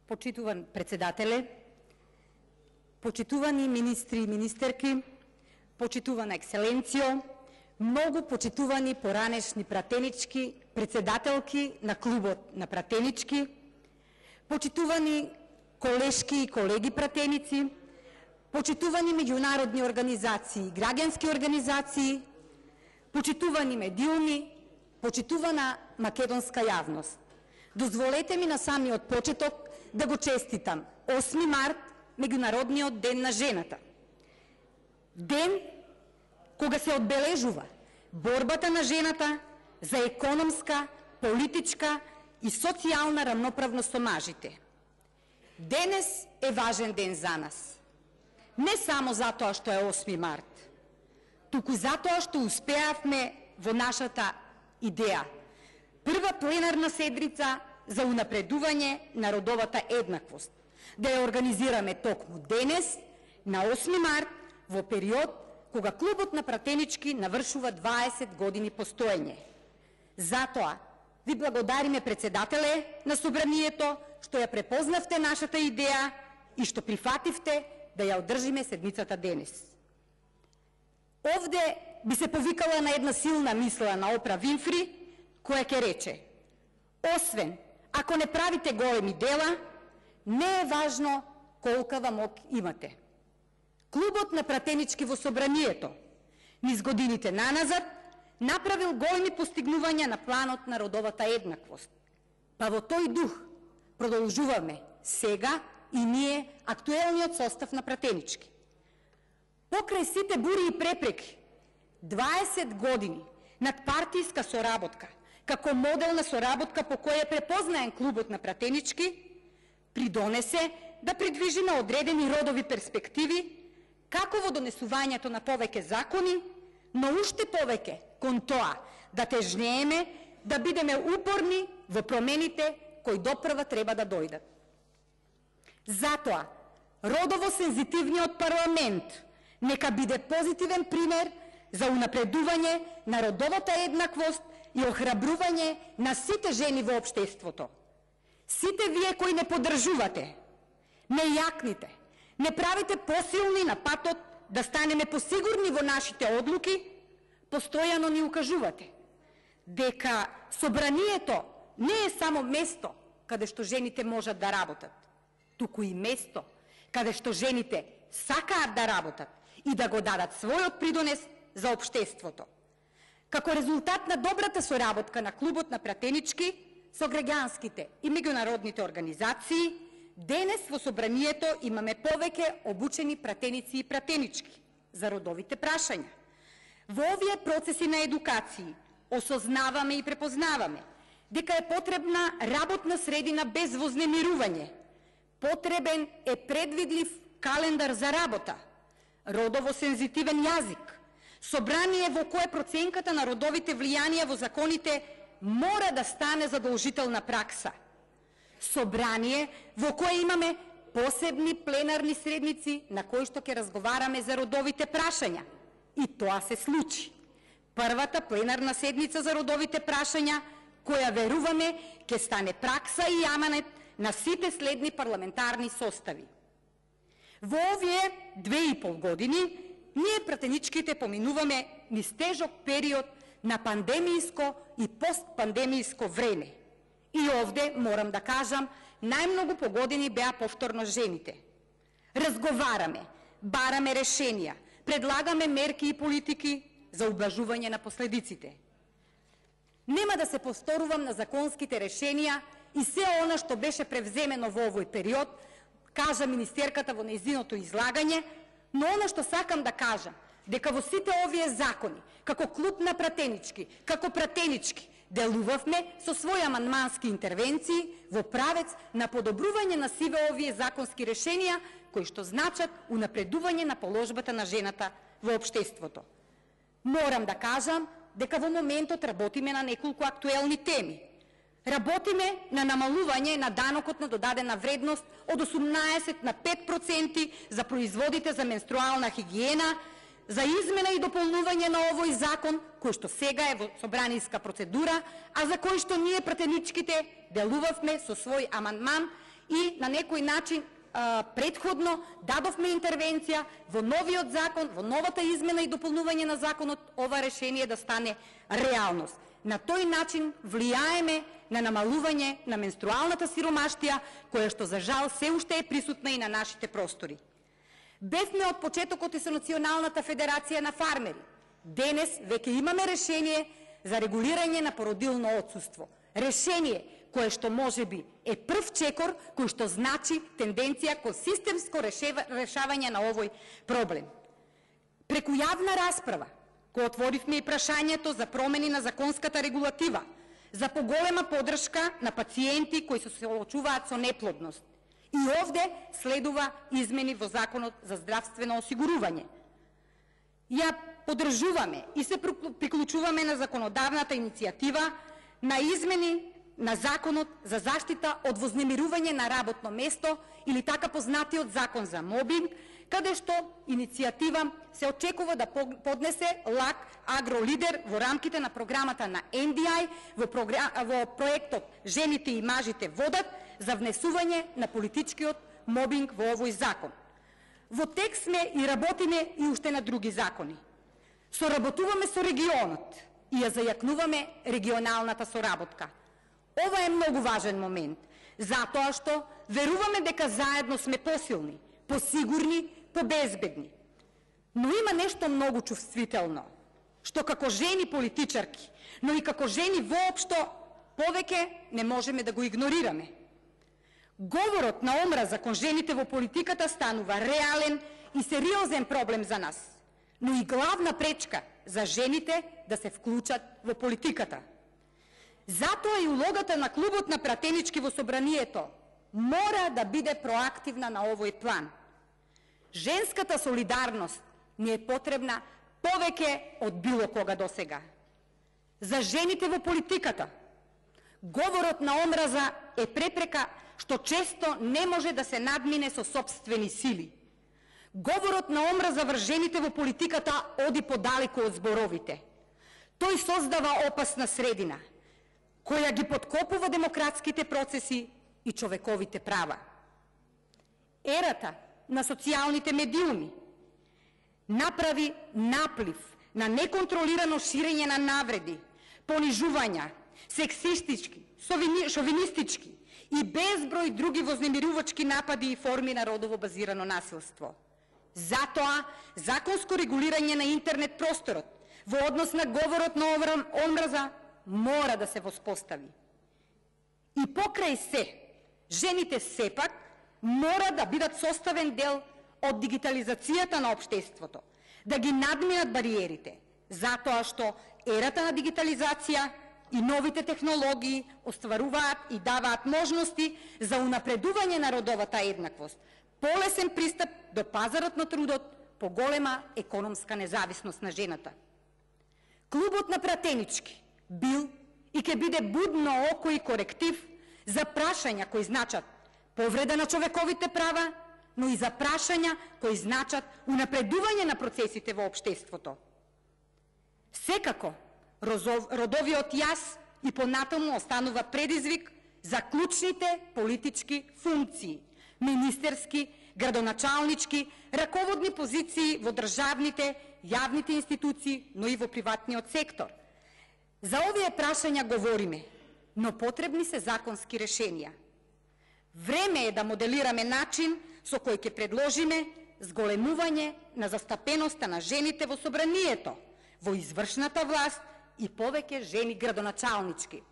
почитуван председателе, почитувани министри и министерки, почитувана екселенцијо, многу почитувани поранешни пратенички, председателки на клубот на пратенички, почитувани колешки и колеги пратеници, почитувани меѓународни организации и граѓански организации, почитувани медиуми, почитувана македонска јавност. Дозволете ми на самиот почеток да го честитам 8 март, Меѓународниот ден на жената. Ден кога се одбележува борбата на жената за економска, политичка и социјална рамноправност со мажите. Денес е важен ден за нас. Не само затоа што е 8 март, туку затоа што успеавме во нашата идеја. Прва пленарна седница за унапредување на родовата еднаквост. Да ја организираме токму денес, на 8 март, во период кога клубот на пратенички навршува 20 години постоење. Затоа ви благодариме, председателе на собранието, што ја препознавте нашата идеја и што прифативте да ја одржиме седницата денес. Овде би се повикала на една силна мисла на Опра Винфри, која ќе рече: освен ако не правите големи дела, не е важно колкава мок имате. Клубот на пратенички во собранието низ годините наназад направил големи постигнувања на планот на родовата еднаквост. Па во тој дух продолжуваме сега и ние актуелниот состав на пратенички. Покрај сите бури и препреки, 20 години надпартијска соработка, како модел на соработка по која е препознаен клубот на пратенички, придонесе да придвижиме одредени родови перспективи, како во донесувањето на повеќе закони, но уште повеќе кон тоа да тежнееме, да бидеме упорни во промените кои допрва треба да дојдат. Затоа, родово сензитивниот парламент нека биде позитивен пример за унапредување на родовата еднаквост и охрабрување на сите жени во општеството. Сите вие кои не поддржувате, не јакните, не правите посилни на патот да станеме посигурни во нашите одлуки, постојано ни укажувате дека собранието не е само место каде што жените можат да работат, туку и место каде што жените сакаат да работат и да го дадат својот придонес за општеството. Како резултат на добрата соработка на клубот на пратенички со граѓанските и меѓународните организации, денес во собранието имаме повеќе обучени пратеници и пратенички за родовите прашања. Во овие процеси на едукација осознаваме и препознаваме дека е потребна работна средина без вознемирување. Потребен е предвидлив календар за работа, родово сензитивен јазик, собрание во кое проценката на родовите влијанија во законите мора да стане задолжителна пракса. Собрание во кое имаме посебни пленарни седници на кои што ќе разговараме за родовите прашања. И тоа се случи. Првата пленарна седница за родовите прашања, која веруваме ќе стане пракса и аманет на сите следни парламентарни состави. Во овие 2,5 години ние пратеничките поминуваме низ тежок период на пандемијско и постпандемијско време. И овде, морам да кажам, најмногу погодени беа повторно жените. Разговараме, бараме решенија, предлагаме мерки и политики за убlažување на последиците. Нема да се повторувам на законските решенија и се она што беше превземено во овој период, кажа министерката во нејзиното излагање, но она што сакам да кажам, дека во сите овие закони, како клуб на пратенички, како пратенички, делувавме со своји амандмански интервенции во правец на подобрување на сиве овие законски решенија, кои што значат унапредување на положбата на жената во општеството. Морам да кажам дека во моментот работиме на неколку актуелни теми. Работиме на намалување на данокот на додадена вредност од 18 на 5% за производите за менструална хигиена, за измена и дополнување на овој закон, кој што сега е во собранијска процедура, а за кој што ние пратеничките делувавме со свој амандман и на некој начин предходно дадовме интервенција во новиот закон, во новата измена и дополнување на законот, ова решение да стане реалност. На тој начин влијаеме на намалување на менструалната сиромаштија, која што за жал се уште е присутна и на нашите простори. Бевме од почетокот и со Националната федерација на фармери. Денес веќе имаме решение за регулирање на породилно отсуство. Решение кое што можеби е прв чекор, кој што значи тенденција кон системско решавање на овој проблем. Преку јавна расправа, кој отворивме и прашањето за промени на законската регулатива, за поголема поддршка на пациенти кои се соочуваат со неплодност. И овде следува измени во Законот за здравствено осигурување. Ја поддржуваме и се приклучуваме на законодавната иницијатива на измени на Законот за заштита од вознемирување на работно место или така познатиот Закон за мобинг, каде што иницијатива се очекува да поднесе ЛАК Агролидер во рамките на програмата на NDI во проектот Жените и мажите водат за внесување на политичкиот мобинг во овој закон. Во текст сме и работиме и уште на други закони. Соработуваме со регионот и ја зајакнуваме регионалната соработка. Ова е многу важен момент, затоа што веруваме дека заедно сме посилни, посигурни, побезбедни. Но има нешто многу чувствително, што како жени политичарки, но и како жени воопшто, повеќе не можеме да го игнорираме. Говорот на омраза кон жените во политиката станува реален и сериозен проблем за нас, но и главна пречка за жените да се вклучат во политиката. Затоа и улогата на клубот на пратенички во собранието мора да биде проактивна на овој план. Женската солидарност ни е потребна повеќе од било кога досега. За жените во политиката говорот на омраза е препрека што често не може да се надмине со сопствени сили. Говорот на омраза врз жените во политиката оди подалеку од зборовите. Тој создава опасна средина, која ги подкопува демократските процеси и човековите права. Ерата на социјалните медиуми направи наплив на неконтролирано ширење на навреди, понижувања, сексистички, шовинистички и безброј други вознемирувачки напади и форми на родово базирано насилство. Затоа, законско регулирање на интернет просторот во однос на говорот на омраза мора да се воспостави. И покрај се, жените сепак мора да бидат составен дел од дигитализацијата на општеството, да ги надминат бариерите, затоа што ерата на дигитализација и новите технологии остваруваат и даваат можности за унапредување на родовата еднаквост, полесен пристап до пазарот на трудот, поголема економска независност на жената. Клубот на пратенички бил и ќе биде будно око и коректив за прашања кои значат повреда на човековите права, но и за прашања кои значат унапредување на процесите во општеството. Секако, родовиот јас и понатаму останува предизвик за клучните политички функции, министерски, градоначалнички, раководни позиции во државните, јавните институции, но и во приватниот сектор. За овие прашања говориме, но потребни се законски решенија. Време е да моделираме начин со кој ќе предложиме зголемување на застапеноста на жените во собранието, во извршната власт и повеќе жени градоначалнички.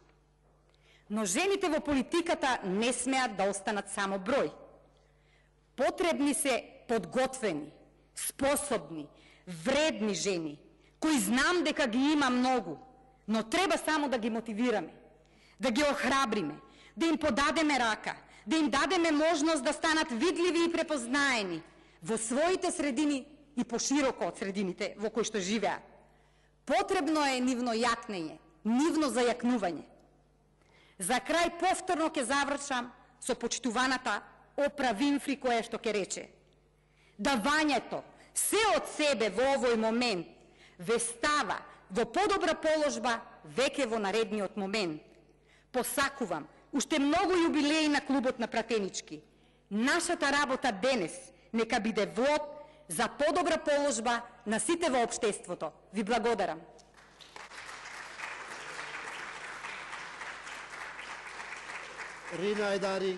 Но жените во политиката не смеат да останат само број. Потребни се подготвени, способни, вредни жени, кои знам дека ги има многу, но треба само да ги мотивираме, да ги охрабриме, да им подадеме рака, да им дадеме можност да станат видливи и препознаени во своите средини и пошироко од средините во кои што живеат. Потребно е нивно јакнење, нивно зајакнување. За крај повторно ќе завршам со почитуваната Опра Винфри, која што ќе рече: давањето се од себе во овој момент ве става во подобра положба веќе во наредниот момент. Посакувам уште многу јубилеи на клубот на пратенички. Нашата работа денес нека биде влог за подобра положба на сите во општеството. Ви благодарам. Рина Айдари.